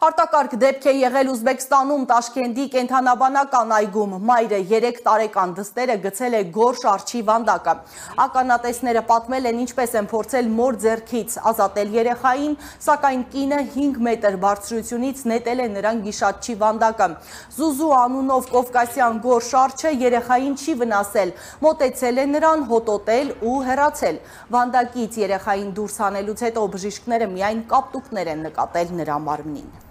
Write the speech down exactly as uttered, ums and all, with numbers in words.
Արտակարգ դեպք է եղել Ուզբեկստանում Տաշկենտի կենդանաբանական այգում։ Մայրը երեք տարեկան դստերը գցել է գորշ արջի վանդակը։ Ականատեսները պատմել են ինչպես են փորձել մոր ձեռքից ազատել երեխային, սակայն կինը հինգ մետր բարձրությունից նետել է նրան գիշատչի վանդակը։ Զուզու անունով կովկասյան գորշ արջը երեխային չի վնասել, մոտեցել է նրան, հոտոտել ու հեռացել։ Վանդակից երեխային դուրս հանելուց հետո բժիշկները միայն կապտուկներ են նկատել նրա մարմնին։